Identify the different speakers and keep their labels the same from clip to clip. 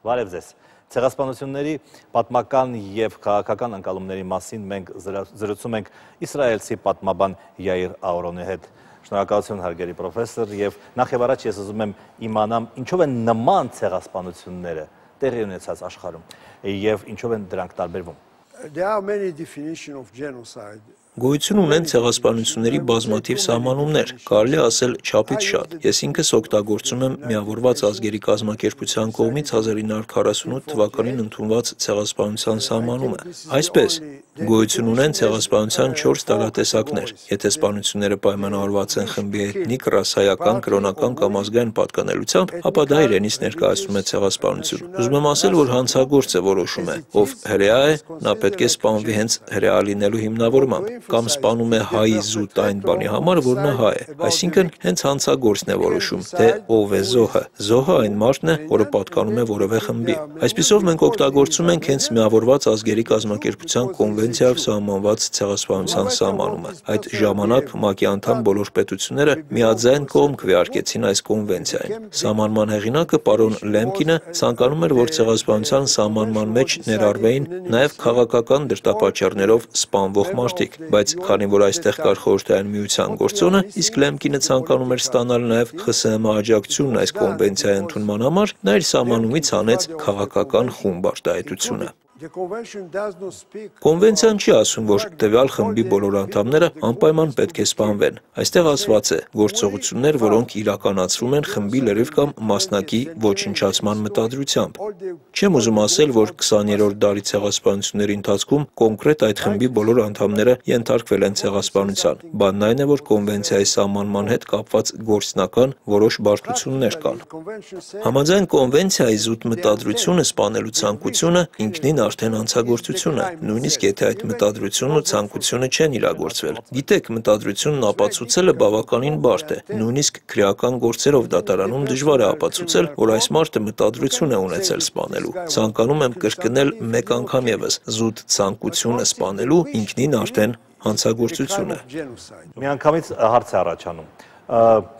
Speaker 1: Բարև ձեզ։ Ցեղասպանությունների պատմական եւ քաղաքական ընկալումների մասին մենք զրուցում ենք իսրայելցի պատմաբան Յայիր Աուրոնի հետ։ Շնորհակալություն հարգելի պրոֆեսոր, եւ նախ եւ առաջ ես ուզում եմ իմանամ ինչով են նման ցեղասպանությունները տեղի ունեցած աշխարհում եւ ինչով են դրանք տարբերվում։
Speaker 2: There are many definitions of genocide.
Speaker 3: Գոյություն ունեն ցեղասպանությունների բազմաթիվ սահմանումներ, կարելի ասել չափից շատ։ Ես ինքս օգտագործում եմ Միավորված ազգերի կազմակերպության կողմից 1948 թվականին ընդունված ցեղասպանության սահմանումը։ Այսպես, գոյություն ունեն ցեղասպանության 4 տարատեսակներ։ Եթե սպանությունները պայմանավորված են խմբի էթնիկ, ռասայական, կրոնական կամ ազգային պատկանելությամբ, ապա դա իրենից ներկայացնում է ցեղասպանություն։ Ուզում եմ ասել, որ հանցագործը որոշում է, ով հրեա է, նա պետք է սպանվի հենց հրեա լինելու հիմնավորմամբ, կամ սպանում է հայի զուտ այն բանի համար, որ նա հայ է։ Այսինքն, հենց հանցագործն է որոշում, թե ով է զոհը։ Զոհը այն մարդն է, որը պատկանում է որևէ խմբի։ Այսպիսով մենք օգտագործում ենք հենց Միավորված ազգերի կազմակերպության կոնվենցիայով սահմանված ցեղասպանության սահմանումը։ Այդ ժամանակ ՄԱԿ-ի անդամ բոլոր պետությունները միաձայն կողմ քվեարկեցին այս կոնվենցիային։ Սահմանման հեղինակը պարոն Լեմկինը ցանկանում էր, որ ցեղասպանության սահմանման մեջ ներառվեին նաև քաղաքական դրդապատճառներով սպանվող մարդիկ, բայց քանի որ այստեղ կար խորհրդային միության գործոնը, իսկ Լեմկինը ցանկանում էր ստանալ նաև ԽՍՀՄ աջակցությունն այս կոնվենցիայի ընդունման համար, նա իր սահմանումից հանեց քաղաքական խումբ արտահայտությունը։ Կոնվենցիան չի ասում, որ տվյալ խմբի բոլոր անդամները անպայման պետք է սպանվեն։ Այստեղ ասված է գործողություններ, որոնք իրականացվում են խմբի լրիվ կամ մասնակի ոչնչացման մտադրությամբ։ Չեմ ուզում ասել, որ 20-րդ դարի ցեղասպանությունների ընթացքում կոնկրետ այդ խմբի բոլոր անդամները ենթարկվել են ցեղասպանության։ Բանն այն է, որ կոնվենցիայի սահմանման հետ կապված գործնական որոշ բարդություններ կան։ Համաձայն կոնվենցիայի զուտ մտադրությունը սպանելու ցանկությունը ինքնին արդեն հանցագործություն է, նույնիսկ եթե այդ մտադրությունն ու ցանկությունը չեն իրագործվել։ Գիտեք, մտադրությունն ապացուցելը բավականին բարդ է, նույնիսկ քրեական գործերով դատարանում դժվար է ապացուցել, որ այս մարդը մտադրություն է ունեցել սպանելու։ Ցանկանում եմ կրկնել մեկ անգամ եւս, զուտ ցանկությունը սպանելու ինքնին արդեն հանցագործություն է։
Speaker 1: Միանգամից հարց է առաջանում։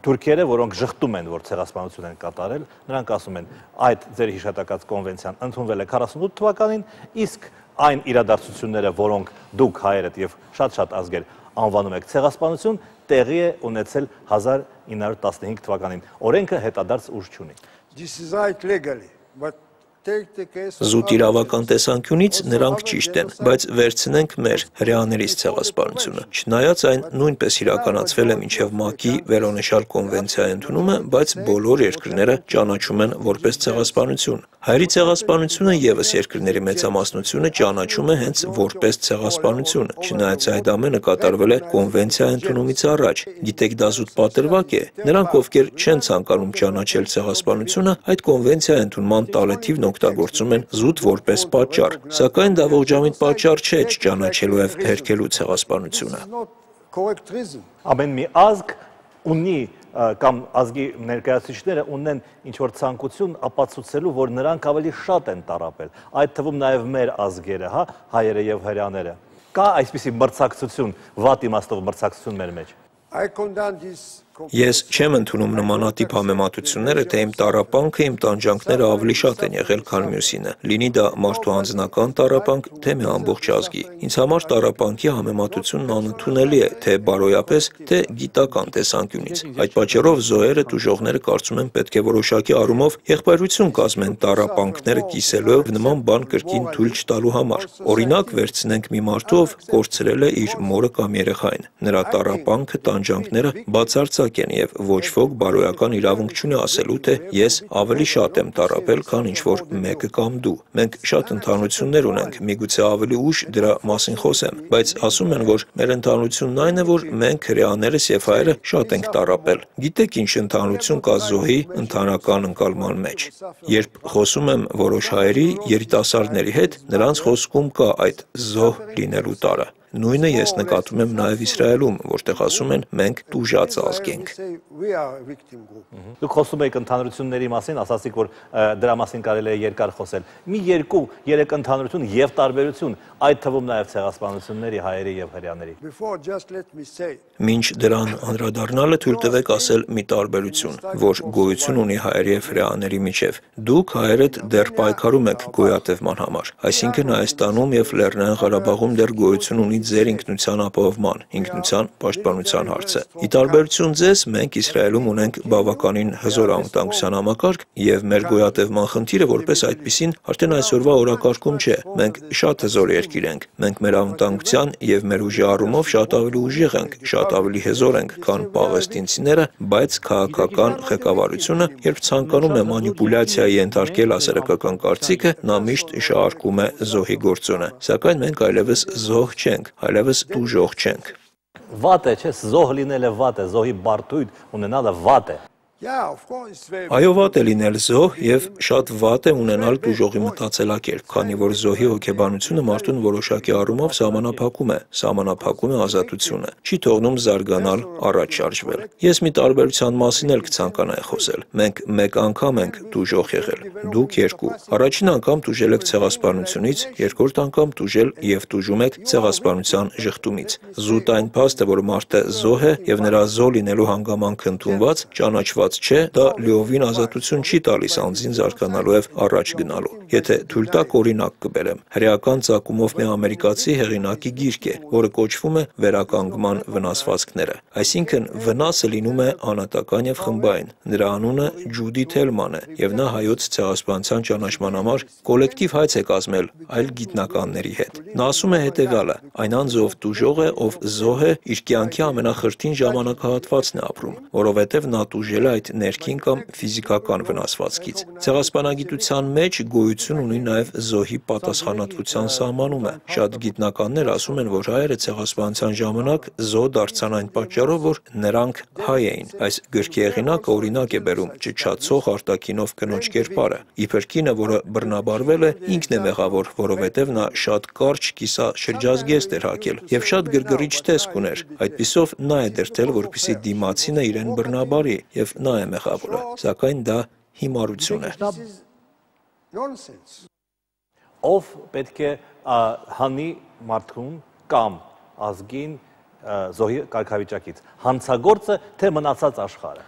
Speaker 1: Թուրքերը, որոնք ժխտում են, որ ցեղասպանություն են կատարել, նրանք ասում են, այդ ձեր հիշատակած կոնվենցիան ընդունվել է 48 թվականին, իսկ այն իրադարձությունները, որոնք դուք հայերդ եւ շատ ազգեր անվանում եք ցեղասպանություն, տեղի է ունեցել 1915 թվականին։ Օրենքը հետադարձ ուժ չունի։
Speaker 2: This is right legally, but
Speaker 3: Զուտ իրավական տեսանկյունից նրանք ճիշտ են, բայց վերցնենք մեր հրեաներից ցեղասպանությունը։ Չնայած այն նույնպես իրականացվել է մինչև ՄԱԿ-ի վերոնշյալ կոնվենցիայի ընդունումը, բայց բոլոր երկրները ճանաչում են որպես ցեղասպանություն։ Հայերի ցեղասպանությունը եւս երկրների մեծամասնությունը ճանաչում է հենց որպես ցեղասպանություն, չնայած այդ ամենը կատարվել է կոնվենցիայի ընդունումից առաջ։ Գիտեք, դա զուտ պատրվակ է։ Նրանք, ովքեր չեն ցանկանում ճանաչել ցեղասպանությունը, այդ կոնվենցիայի ընդունման տարեթիվն օգտագործում են զուտ որպես պատճառ, սակայն դա ողջամիտ պատճառ չէ չճանաչելու եւ հերքելու ցեղասպանությունը։
Speaker 1: Ամեն մի ազգ ունի կամ ազգի ներկայացուցիչները ունեն ինչ-որ ցանկություն ապացուցելու, որ նրանք ավելի շատ են տառապել, այդ թվում նաև մեր ազգերը, հայերը եւ հրեաները։ Կա այսպիսի մրցակցություն, վատ իմաստով մրցակցություն մեր մեջ։
Speaker 3: Ես չեմ ընդունում նմանատիպ համեմատությունները, թե իմ տառապանքը, իմ տանջանքները ավելի շատ են եղել, քան մյուսինը, լինի դա մարդու անձնական տառապանք, թե մի ամբողջ ազգի։ Ինձ համար տառապանքի համեմատությունն անընդունելի է, թե բարոյապես, թե գիտական տեսանկյունից։ Այդ պատճառով զոհերը, տուժողները կարծում եմ պետք է որոշակի առումով եղբայրություն կազմեն տառապանքները կիսելու եւ նման բան կրկին թույլ չտալու համար։ Օրինակ, վերցնենք մի մարդու, ով կորցրել է իր մորը կամ երեխային։ Նրա տառապանքը, տանջանքները բացարձակ են եւ ոչ ոք բարոյական իրավունք չունի ասելու, թե ես ավելի շատ եմ տառապել, քան ինչ որ մեկը կամ դու։ Մենք շատ ընդհանրություններ ունենք, միգուցե ավելի ուշ դրա մասին խոսեմ, բայց ասում են, որ մեր ընդհանրությունն այն է, որ մենք հրեաներս եւ հայերը շատ ենք տառապել։ Գիտեք ինչ ընդհանրություն կա զոհի ընդհանրական ընկալման մեջ։ Երբ խոսում եմ որոշ հայերի երիտասարդների հետ, նրանց խոսքում կա այդ զոհ լինելու տարը։ Նույնը ես նկատում եմ նաև Իսրայելում, որտեղ ասում են մենք տուժած ազգ ենք։
Speaker 1: Դուք խոսում եք ընդհանրությունների մասին, ասացիք, որ դրա մասին կարելի է երկար խոսել։ Մի 2-3 ընդհանրություն եւ տարբերություն, այդ թվում նաև ցեղասպանությունների հայերի եւ հրեաների։
Speaker 3: Մինչ դրան անդրադառնալը թույլ տվեք ասել մի տարբերություն, որ գոյություն ունի հայերի եւ հրեաների միջև։ Դուք հայերդ դեռ պայքարում եք գոյատևման համար, այսինքն Հայաստանում եւ Լեռնային Ղարաբաղում դեռ գոյություն ունի ձեր ինքնության ապահովման, ինքնության պաշտպանության հարցը։ Ի տարբերություն ձեզ, մենք Իսրայելում ունենք բավականին հզոր անվտանգության համակարգ եւ մեր գոյատևման խնդիրը որպես այդպիսին արդեն այսօրվա օրակարգում չէ։ Մենք շատ հզոր երկիր ենք։ Մենք մեր անվտանգության եւ մեր ուժի առումով շատ ավելի ուժեղ ենք, շատ ավելի հզոր ենք, քան պաղեստինցիները, բայց քաղաքական ղեկավարությունը, երբ ցանկանում է մանիպուլյացիայի ենթարկել հասարակական կարծիքը, նա միշտ շահարկում է զոհի գործոնը։ Սակայն մենք այլևս զոհ չենք, այլևս տուժող չենք։
Speaker 1: Վատ է, չէ՞, զոհ լինելը վատ է, զոհի բարդույթ ունենալը վատ է։
Speaker 3: Այո, վատ է լինել զոհ եւ շատ վատ է ունենալ տուժողի մտածելակերպ, քանի որ զոհի հոգեբանությունը մարդուն որոշակի առումով սահմանափակում է ազատությունը, չի թողնում զարգանալ, առաջ շարժվել։ Ես մի տարբերության մասին էլ կցանկանայի խոսել։ Մենք մեկ անգամ ենք տուժող եղել, դուք երկու։ Առաջին անգամ տուժել եք ցեղասպանությունից, երկրորդ անգամ տուժել եւ տուժում եք ցեղասպանության ժխտումից։ Զուտ այն փաստը, որ մարդը զոհ է եւ նրա զոհ լինելու հանգամանքը ընդունված, ճանաչված չէ, դա լիովին ազատություն չի տալիս անձին զարգանալու եւ առաջ գնալու։ Եթե թույլ տաք օրինակ կբերեմ, հրեական ծագումով մի ամերիկացի հեղինակի գիրք է, որը կոչվում է Վերականգնման վնասվածքները։ Այսինքն վնասը լինում է անհատական եւ խմբային։ Նրա անունը Ջուդի Թելման է եւ նա հայոց ցեղասպանության ճանաչման համար կոլեկտիվ հայց է կազմել այլ գիտնականների հետ։ Նա ասում է հետեւյալը. այն անձով տուժող է, ով զոհ է, իր կյանքի ամենախրթին ժամանակահատվածն է ապրում, որովհետեւ նա տուժել է այդ ներքին կամ ֆիզիկական վնասվածքից։ Ցեղասպանագիտության մեջ գոյություն ունի նաև զոհի պատասխանատվության սահմանումը։ Շատ գիտնականներ ասում են, որ հայերը ցեղասպանության ժամանակ զոհ դարձան այն պատճառով, որ նրանք հայ էին։ Այս գրքի հեղինակը օրինակ է բերում ճչացող արտաքինով կնոջ կերպարը։ Իբր կինը, որը բռնաբարվել է, ինքն է մեղավոր, որովհետև նա շատ կարճ կիսաշրջազգեստ էր հագել եւ շատ գրգռիչ տեսք ուներ։ Այդպիսով նա է դրդել, որպեսզի դիմացինը իրեն բռնաբարի եւ նա է մեղավորը, սակայն դա հիմարություն է։
Speaker 1: Ով պետք է հանի մարդուն կամ ազգին զոհի կարգավիճակից, հանցագործը թե մնացած աշխարհը։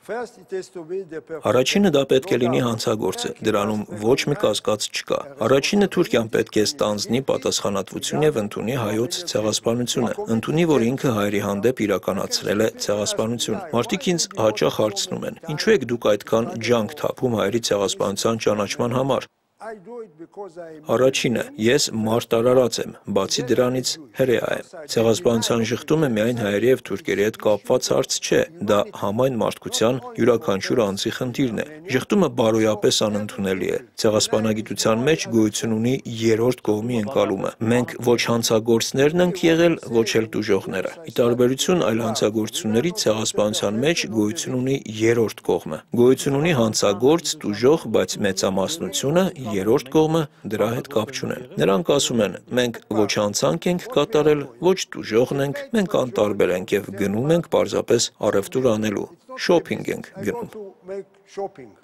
Speaker 3: Առաջինը դա պետք է լինի հանցագործը, դրանում ոչ մի կասկած չկա։ Առաջինը Թուրքիան պետք է ստանձնի պատասխանատվություն եւ ընդունի հայոց ցեղասպանությունը, ընդունի, որ ինքը հայերի հանդեպ իրականացրել է ցեղասպանություն։ Մարդիկ ինձ հաճախ հարցնում են. ինչու եք դուք այդքան ջանք թափում հայերի ցեղասպանության ճանաչման համար։ Առաջինը, ես մարտարարած եմ, բացի դրանից հրեա եմ։ Ցեղասպանության ժխտումը միայն հայերի եւ թուրքերի հետ կապված հարց չէ, դա համայն մարդկության յուրաքանչյուր անձի խնդիրն է։ Ժխտումը բարոյապես անընդունելի է։ Ցեղասպանագիտության մեջ գոյություն ունի երրորդ կողմի ընկալումը։ Մենք ոչ հանցագործներն ենք եղել, ոչ էլ տուժողները։ Ի տարբերություն այլ հանցագործությունների ցեղասպանության մեջ գոյություն ունի երրորդ կողմը։ Գոյություն ունի հանցագործ, տուժող, բայց մեծամասնությունը երրորդ կողմը դրա հետ կապ չունեն։ Նրանք ասում են, մենք ոչ հանցանք ենք կատարել, ոչ տուժողն ենք, մենք անտարբեր ենք եւ գնում ենք պարզապես առևտուր անելու, շոփինգ ենք գնում։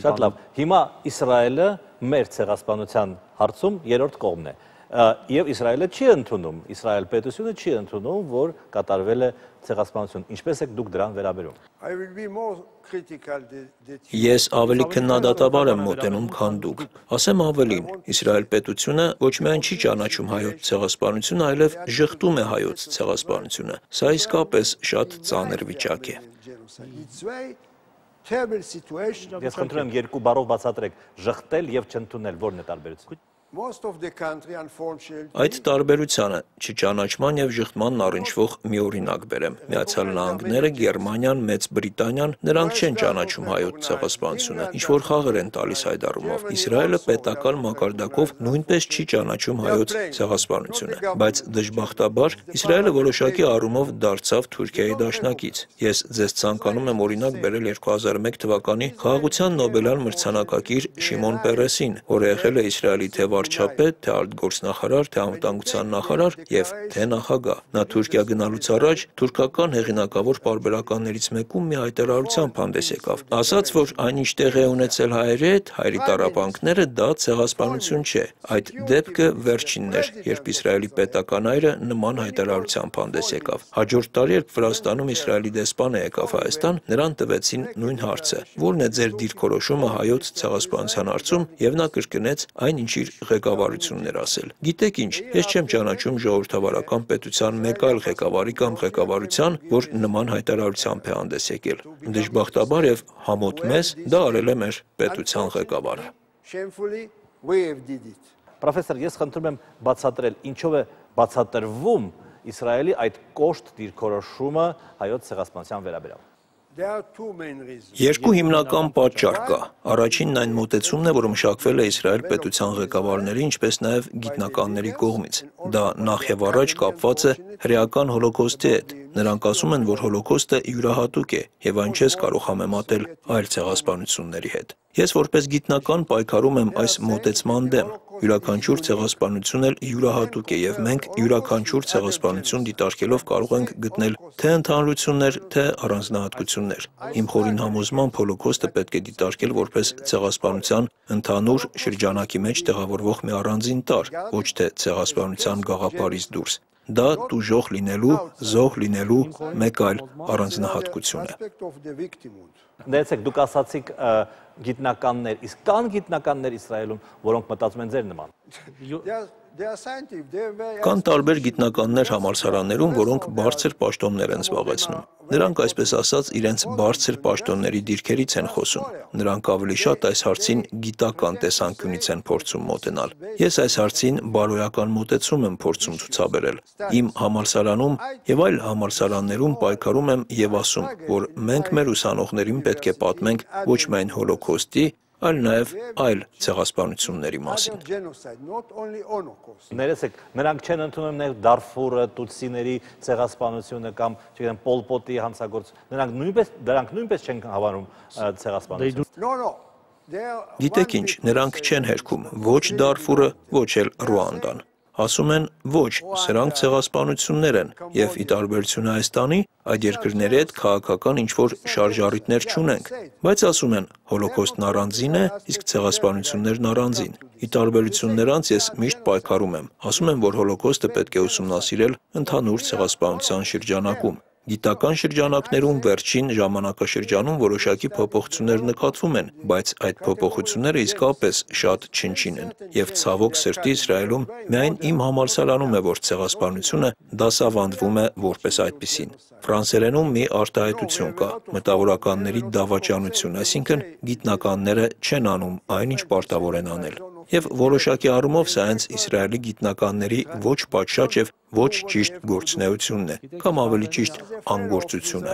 Speaker 1: Շատ լավ։ Հիմա Իսրայելը մեր ցեղասպանության հարցում երրորդ կողմն է։ Եվ Իսրայելը չի ընդունում, Իսրայել պետությունը չի ընդունում, որ կատարվել է ցեղասպանություն։ Ինչպես եք դուք դրան վերաբերում։
Speaker 3: Ես ավելի քննադատաբար եմ մոտենում, քան դուք։ Ասեմ ավելին, Իսրայել պետությունը ոչ միայն չի ճանաչում հայոց ցեղասպանությունը, այլև ժխտում է հայոց ցեղասպանությունը։ Սա իսկապես շատ ծանր վիճակ է։
Speaker 1: Ես խնդրում եմ երկու բառով բացատրեք ժխտել եւ չընդունել, որն է տարբերությունը։
Speaker 3: Այդ տարբերությանը չճանաչման եւ ժխտմանն առնչվող մի օրինակ բերեմ։ Միացյալ Նահանգները, Գերմանիան, Մեծ Բրիտանիան, նրանք չեն ճանաչում հայոց ցեղասպանությունը, ինչ որ խաղեր են տալիս այդ առումով։ Իսրայելը պետական մակարդակով նույնպես չի ճանաչում հայոց ցեղասպանությունը, բայց դժբախտաբար Իսրայելը որոշակի առումով դարձավ Թուրքիայի դաշնակից։ Ես ձեզ ցանկանում եմ օրինակ բերել 2001 թվականի խաղաղության Նոբելյան մրցանակակիր Շիմոն Պերեսին, որը եղել է Իսրայելի թեւ վարչապետ, թե արտգործնախարար, թե անվտանգության նախարար եւ թե նախագահ։ Նա Թուրքիա գնալուց առաջ թուրքական հեղինակավոր պարբերականներից մեկում մի հայտարարությամբ հանդես եկավ։ Ասաց, որ այնինչ տեղի է ունեցել հայերի հետ, հայերի տառապանքները դա ցեղասպանություն չէ։ Այդ դեպքը վերջինն էր, երբ Իսրայելի պետական այրը նման հայտարարությամբ հանդես եկավ։ Հաջորդ տարի, երբ Վրաստանում Իսրայելի դեսպանը եկավ Հայաստան, նրան տվեցին նույն հարցը. ո՞րն է ձեր դիրքորոշումը հայոց ցեղասպանության հարցում, եւ նա կրկնեց այն, ինչ իր ղեկավարությունն էր ասել։ Գիտեք ինչ, ես չեմ ճանաչում ժողովրդավարական պետության մեկ այլ ղեկավարի կամ ղեկավարության, որ նման հայտարարությամբ է հանդես եկել։ Դժբախտաբար եւ համոտ մեզ դա արել է մեր պետության ղեկավարը։
Speaker 1: Պրոֆեսոր, ես խնդրում եմ բացատրել, ինչով է բացատրվում Իսրայելի այդ կոշտ դիրքորոշումը հայոց ցեղասպանության վերաբերյալ։
Speaker 3: Երկու հիմնական պատճառ կա։ Առաջինն այն մոտեցումն է, որը մշակվել է Իսրայել պետության ղեկավարների, ինչպես նաև գիտնականների կողմից։ Դա նախ եւ առաջ կապված է հրեական հոլոկոստի հետ։ Նրանք ասում են, որ հոլոկոստը յուրահատուկ է եւ այն չես կարող համեմատել այլ ցեղասպանությունների հետ։ Ես որպես գիտնական պայքարում եմ այս մոտեցման դեմ։ Յուրաքանչյուր ցեղասպանություն էլ յուրահատուկ է եւ մենք յուրաքանչյուր ցեղասպանություն դիտարկելով կարող ենք գտնել թե ընդհանրություններ, թե առանձնահատկություններ։ Իմ խորին համոզմամբ հոլոկոստը պետք է դիտարկել որպես ցեղասպանության ընդհանուր շրջանակի մեջ տեղավորվող մի առանձին տար, ոչ թե ցեղասպանության գաղափարից դուրս։ Դա տուժող լինելու, զոհ լինելու մեկ այլ առանձնահատկություն է։
Speaker 1: Ներեցեք, դուք ասացիք գիտնականներ, իսկ կան գիտնականներ Իսրայելում, որոնք մտածում են ձեր նման։
Speaker 3: Կան տարբեր գիտնականներ համալսարաններում, որոնք բարձր պաշտոններ են զբաղեցնում։ Նրանք, այսպես ասած, իրենց բարձր պաշտոնների դիրքերից են խոսում։ Նրանք ավելի շատ այս հարցին գիտական տեսանկյունից են փորձում մոտենալ։ Ես այս հարցին բարոյական մոտեցում եմ փորձում ցուցաբերել։ Իմ համալսարանում եւ այլ համալսարաններում պայքարում եմ եւ ասում, որ մենք մեր ուսանողներին պետք է պատմենք ոչ միայն հոլոկոստի, այլ նաև այլ ցեղասպանությունների մասին։
Speaker 1: Ներեցեք, նրանք չեն ընդունում նաև Դարֆուրը, Տուտսիների ցեղասպանությունը կամ, չգիտեմ, Պոլ Պոտի հանցագործ, դրանք նույնպես չեն հավանում ցեղասպանություն։
Speaker 3: Գիտեք ինչ, նրանք չեն հերքում ոչ Դարֆուրը, ոչ էլ Ռուանդան։ Ասում են ոչ, սրանք ցեղասպանություններ են, եւ ի տարբերություն Հայաստանի, այդ երկրների հետ քաղաքական ինչ-որ շարժառիթներ չունենք, բայց ասում են հոլոկոստն առանձին է, իսկ ցեղասպանություններն առանձին։ Ի տարբերություն նրանց ես միշտ պայքարում եմ, ասում եմ, որ հոլոկոստը պետք է ուսումնասիրել ընդհանուր ցեղասպանության շրջանակում։ Գիտական շրջանակներում վերջին ժամանակաշրջանում որոշակի փոփոխություններ նկատվում են, բայց այդ փոփոխությունները իսկապես շատ չնչին են, եւ ցավոք սրտի Իսրայելում միայն իմ համալսարանում է, որ ցեղասպանությունը դասավանդվում է որպես այդպիսին։ Ֆրանսերենում մի արտահայտություն կա՝ մտավորականների դավաճանություն, այսինքն գիտնականները չեն անում այն, ինչ պարտավոր են անել։ Եվ որոշակի առումով սա հենց Իսրայելի գիտնականների ոչ պատշաճ եւ ոչ ճիշտ գործունեությունն է, կամ ավելի ճիշտ անգործությունը։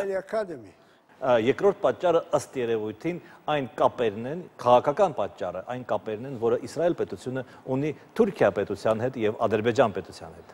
Speaker 1: Երկրորդ պատճառը ըստ երևույթին այն կապերն են, քաղաքական պատճառը, այն կապերն են, որը Իսրայել պետությունը ունի Թուրքիա պետության հետ եւ Ադրբեջան պետության հետ։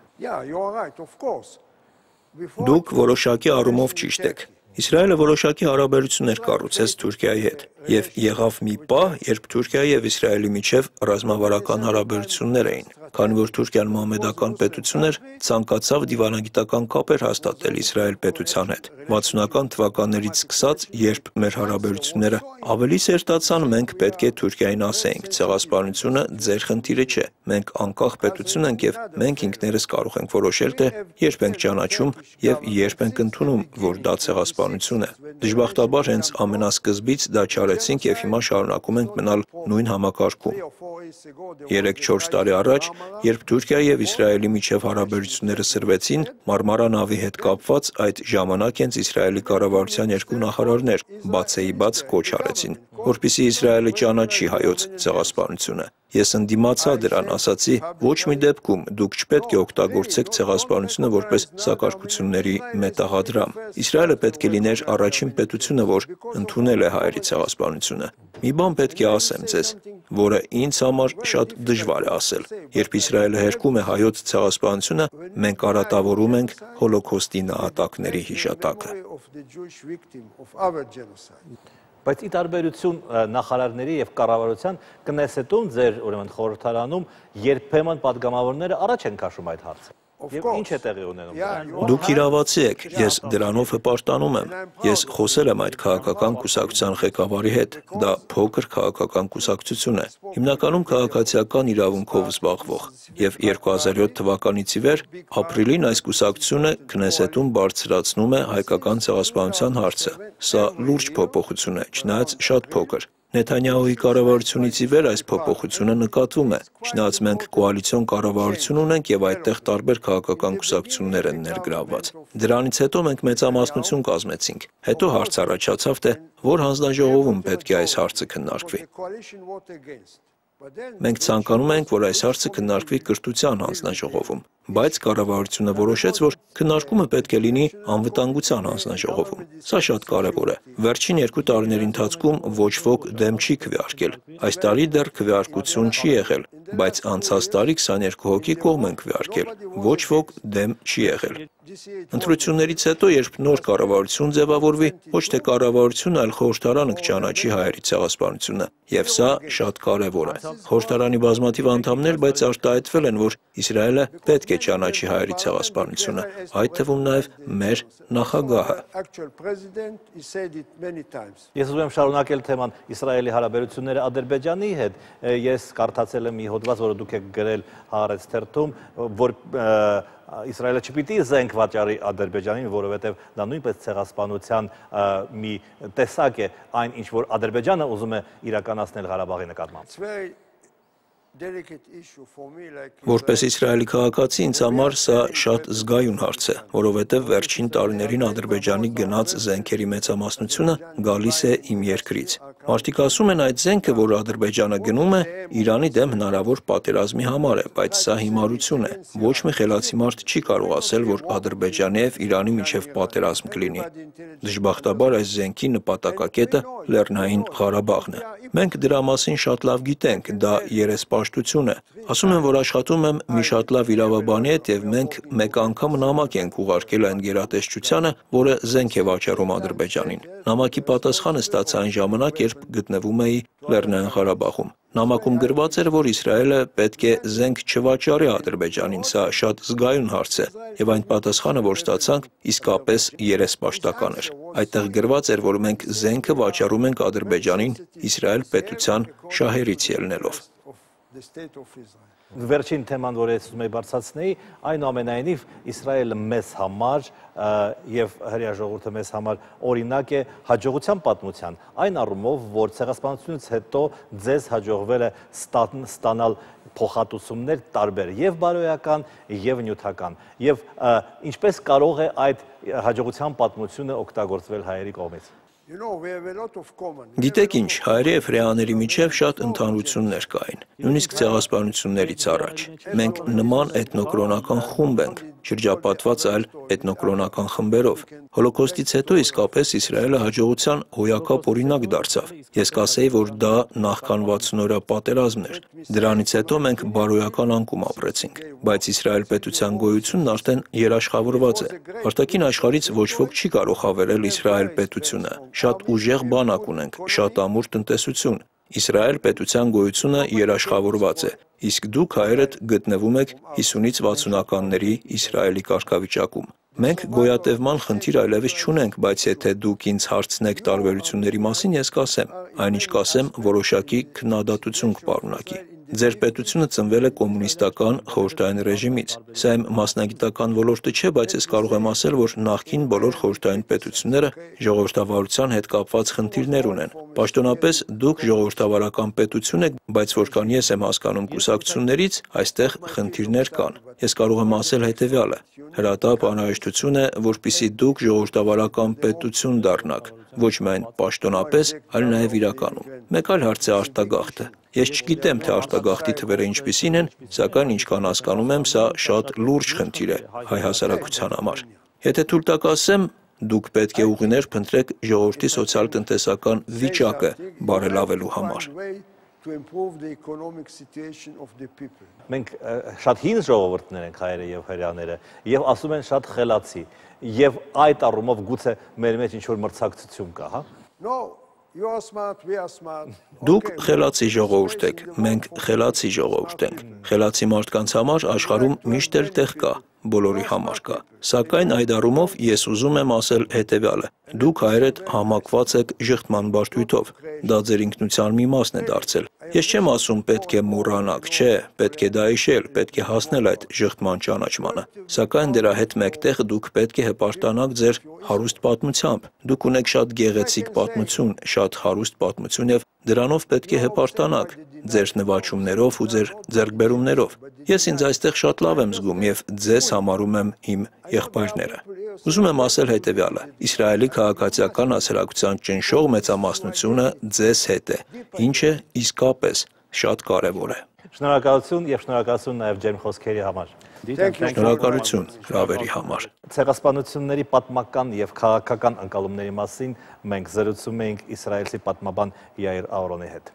Speaker 3: Դուք որոշակի առումով ճիշտ եք։ Իսրայելը որոշակի հարաբերություններ կառուցեց Թուրքիայի հետ, եւ եղավ մի պահ, երբ Թուրքիայի եւ Իսրայելի միջև ռազմավարական հարաբերություններ էին։ Քանի որ Թուրքիան մահմեդական պետություն էր, ցանկացավ դիվանագիտական կապեր հաստատել Իսրայել պետության հետ։ 60-ական թվականներից սկսած, երբ մեր հարաբերությունները ավելի սերտացան, մենք պետք է Թուրքիային ասեինք, ցեղասպանությունը ձեր խնդիրը չէ։ Մենք անկախ պետություն ենք եւ մենք ինքներս կարող ենք որոշել, թե երբ ենք ճանաչում եւ երբ ենք ընդունում, որ դա ցեղասպանություն է։ Դժբախտաբար հենց ամենասկզբից դա չարեցինք եւ հիմա շարունակում ենք մնալ նույն համակարգում։ 3-4 տարի առաջ, երբ Թուրքիայի եւ Իսրայելի միջև հարաբերությունները սրվեցին, Մարմարա նավի հետ կապված այդ ժամանակ հենց Իսրայելի կառավարության երկու նախարարներ բացեիբաց կոչ արեցին, որպեսզի Իսրայելը ճանաչի հայոց ցեղասպանությունը։ Ես ընդդիմացա դրան, ասացի, ոչ մի դեպքում դուք չպետք է օգտագործեք ցեղասպանությունը որպես սակարկությունների մետաղադրամ։ Իսրայելը պետք է լիներ առաջին պետությունը, որ ընդունել է հայերի ցեղասպանությունը։ Մի բան պետք է ասեմ ձեզ, որը ինձ համար շատ դժվար է ասել։ Երբ Իսրայելը հերքում է հայոց ցեղասպանությունը, մենք արատավորում ենք հոլոկոստի նահատակների հիշատակը։
Speaker 1: Բայց ի տարբերություն նախարարների եւ կառավարության կնեսետում ձեր ուրեմն խորհրդարանում երբեմն падգամավորները առաջ են քաշում այդ հարցը։ Եվ ինչ է տեղի ունենում։
Speaker 3: Դուք իրավացի եք, ես դրանով հպարտանում եմ։ Ես խոսել եմ այդ քաղաքական կուսակցության ղեկավարի հետ, դա փոքր քաղաքական կուսակցություն է, հիմնականում քաղաքացիական իրավունքով զբաղվող, եւ 2007 թվականից ի վեր ապրիլին այս կուսակցությունը Քնեսետում բարձրացնում է հայկական ցեղասպանության հարցը։ Սա լուրջ փոփոխություն է, չնայած շատ փոքր։ Նեթանյահուի կառավարությունից ի վեր այս փոփոխությունը նկատվում է, չնայած մենք կոալիցիոն կառավարություն ունենք եւ այդտեղ տարբեր քաղաքական կուսակցություններ են ներգրավված։ Դրանից հետո մենք մեծամասնություն կազմեցինք։ Հետո հարց առաջացավ, թե որ հանձնաժողովում պետք է այս հարցը քննարկվի։ Մենք ցանկանում ենք, որ այս հարցը քննարկվի կրթության հանձնաժողովում, բայց կառավարությունը որոշեց, որ քննարկումը պետք է լինի անվտանգության հանձնաժողովում։ Սա շատ կարևոր է։ Վերջին 2 տարիների ընթացքում ոչ ոք դեմ չի քվեարկել։ Այս տարի դեռ քվեարկություն չի եղել, բայց անցած տարի 22 հոգի կողմ են քվեարկել։ Ոչ ոք դեմ չի եղել։ Ընտրություններից հետո, երբ նոր կառավարություն ձևավորվի, ոչ թե կառավարությունը, այլ խորհրդարանը կճանաչի հայերի ցեղասպանությունը, եւ սա շատ կարևոր է։ Խորհրդարանի բազմաթիվ անդամներ բայց արտահայտվել են, որ Իսրայելը պետք է ճանաչի հայերի ցեղասպանությունը, այդ թվում նաեւ մեր նախագահը։
Speaker 1: Ես ուզում եմ շարունակել թեման Իսրայելի հարաբերությունները Ադրբեջանի հետ։ Ես կարդացել եմ մի հոդված, որը դուք եք գրել Հaaretz թերթում, որ Իսրայելը չպիտի զենք վաճառի Ադրբեջանին, որովհետև դա նույնպես ցեղասպանության մի տեսակ է, այն ինչ որ Ադրբեջանը ուզում է իրականացնել Ղարաբաղի նկատմամբ։
Speaker 3: Որպես Իսրայելի քաղաքացի ինձ համար սա շատ զգայուն հարց է, որովհետև վերջին տարիներին Ադրբեջանի գնաց զենքերի մեծամասնությունը գալիս է իմ երկրից։ Մարդիկ ասում են այդ զենքը, որ Ադրբեջանը գնում է, Իրանի դեմ հնարավոր պատերազմի համար է, բայց սա հիմարություն է։ Ոչ մի խելացի մարդ չի կարող ասել, որ Ադրբեջանի եւ Իրանի միջև պատերազմ կլինի։ Դժբախտաբար այս զենքի նպատակակետը Լեռնային Ղարաբաղն է։ Մենք դրա մասին շատ լավ գիտենք, դա երեսպաշտություն է։ Ասում եմ, որ աշխատում եմ մի շատ լավ իրավաբանի հետ եւ մենք մեկ անգամ նամակ ենք ուղարկել այն գերատեսչությանը, որը զենք է վաճառում Ադրբեջանին։ Նամակի պատասխանը ստացա այն ժամանակ, երբ գտնվում էի Լեռնային Ղարաբաղում։ Նամակում գրված էր, որ Իսրայելը պետք է զենք չվաճառի Ադրբեջանին, սա շատ զգայուն հարց է, եւ այն պատասխանը, որ ստացանք, իսկապես երեսպաշտական էր։ Այդտեղ գրված էր, որ մենք զենքը վաճառում ենք Ադրբեջանին Իսրայել պետության շահերից ելնելով։
Speaker 1: Վերջին թեման, որ ես ուզում եի բարձրացնեի, այնուամենայնիվ Իսրայելը մեզ համար եւ հրեա ժողովուրդը մեզ համար օրինակ է հաջողության պատմության, այն առումով, որ ցեղասպանությունից հետո ձեզ հաջողվել է ստանալ փոխհատուցումներ տարբեր եւ բարոյական եւ նյութական եւ ինչպես կարող է այդ հաջողության պատմությունը օգտագործվել հայերի կողմից։
Speaker 3: Գիտեք ինչ, հայերի եւ հրեաների միջև շատ ընդհանրություններ կային, նույնիսկ ցեղասպանություններից առաջ։ Մենք նման էթնոկրոնական խումբ ենք, շրջապատված այլ էթնոկրոնական խմբերով։ Հոլոկոստից հետո իսկապես Իսրայելը հաջողության հոյակապ օրինակ դարձավ։ Ես կասեի, որ դա նախքան 60-օրյա պատերազմն էր։ Դրանից հետո մենք բարոյական անկում ապրեցինք, բայց Իսրայել պետության գոյությունն արդեն երաշխավորված է։ Արտաքին աշխարհից ոչ ոք չի կարող հավերել Իսրայել պետությունը։ Շատ ուժեղ բանակ ունենք, շատ ամուր տնտեսություն։ Իսրայել պետության գոյությունը երաշխավորված է, իսկ դուք հայերդ գտնվում եք 50-ից 60-ականների Իսրայելի կարգավիճակում։ Մենք գոյատևման խնդիր այլևս չունենք, բայց եթե դուք ինձ հարցնեք տարբերությունների մասին, ես կասեմ, այնինչ կասեմ, որոշակի քննադատություն կպարունակի։ Ձեր պետությունը ծնվել է կոմունիստական խորհրդային ռեժիմից։ Սա իմ մասնագիտական ոլորտը չէ, բայց ես կարող եմ ասել, որ նախկին բոլոր խորհրդային պետությունները ժողովրդավարության հետ կապված խնդիրներ ունեն։ Պաշտոնապես դուք ժողովրդավարական պետություն եք, բայց որքան ես եմ հասկանում կուսակցություններից, այստեղ խնդիրներ կան։ Ես կարող եմ ասել հետևյալը. հրատապ անհրաժեշտություն է, որպեսզի դուք ժողովրդավարական պետություն դառնաք, ոչ միայն պաշտոնապես, այլ նաև իրականում։ Մեկ այլ հարց է արտագաղթը։ Ես չգիտեմ, թե արտագաղթի թվերը ինչպիսին են, սակայն ինչքան հասկանում եմ, սա շատ լուրջ խնդիր է հայ հասարակության համար։ Եթե թույլ տաք ասեմ, դուք պետք է ուղիներ փնտրեք ժողովրդի սոցիալ-տնտեսական վիճակը բարելավելու համար։
Speaker 1: Մենք շատ հին ժողովուրդներ ենք հայերը եւ հրեաները եւ ասում են շատ խելացի եւ այդ առումով գուցե մեր մեջ ինչ որ մրցակցություն կա, հա։
Speaker 2: You are smart, we are smart.
Speaker 3: Դուք խելացի ժողովուրդ եք, մենք խելացի ժողովուրդ ենք։ Խելացի մարդկանց համար աշխարհում միշտ էլ տեղ կա, բոլորի համար կա։ Սակայն այդ առումով ես ուզում եմ ասել հետևյալը. դուք հայերդ համակված եք ժխտման բարդույթով, դա ձեր ինքնության մի մասն է դարձել։ Ես չեմ ասում պետք է մոռանաք, չէ, պետք է դա հիշել, պետք է հասնել այդ ժխտման ճանաչմանը։ Սակայն դրա հետ մեկտեղ դուք պետք է հպարտանաք ձեր հարուստ պատմությամբ։ Դուք ունեք շատ գեղեցիկ պատմություն, շատ հարուստ պատմություն եւ դրանով պետք է հպարտանաք ձեր նվաճումներով ու ձեր ձեռքբերումներով։ Ես ինձ այստեղ շատ լավ եմ զգում եւ ձեզ համարում եմ իմ եղբայրները։ Ուզում եմ ասել հետևյալը. Իսրայելի քաղաքացիական հասարակության ճնշող մեծամասնությունը ձեզ հետ է, ինչը իսկապես շատ կարևոր է։
Speaker 1: Շնորհակալություն եւ շնորհակալություն նաեւ ջերմ խոսքերի համար։
Speaker 3: Շնորհակալություն հրավերի համար։
Speaker 1: Ցեղասպանությունների պատմական եւ քաղաքական ընկալումների մասին մենք զրուցում էինք իսրայելցի պատմաբան Յայիր Աորոնի հետ։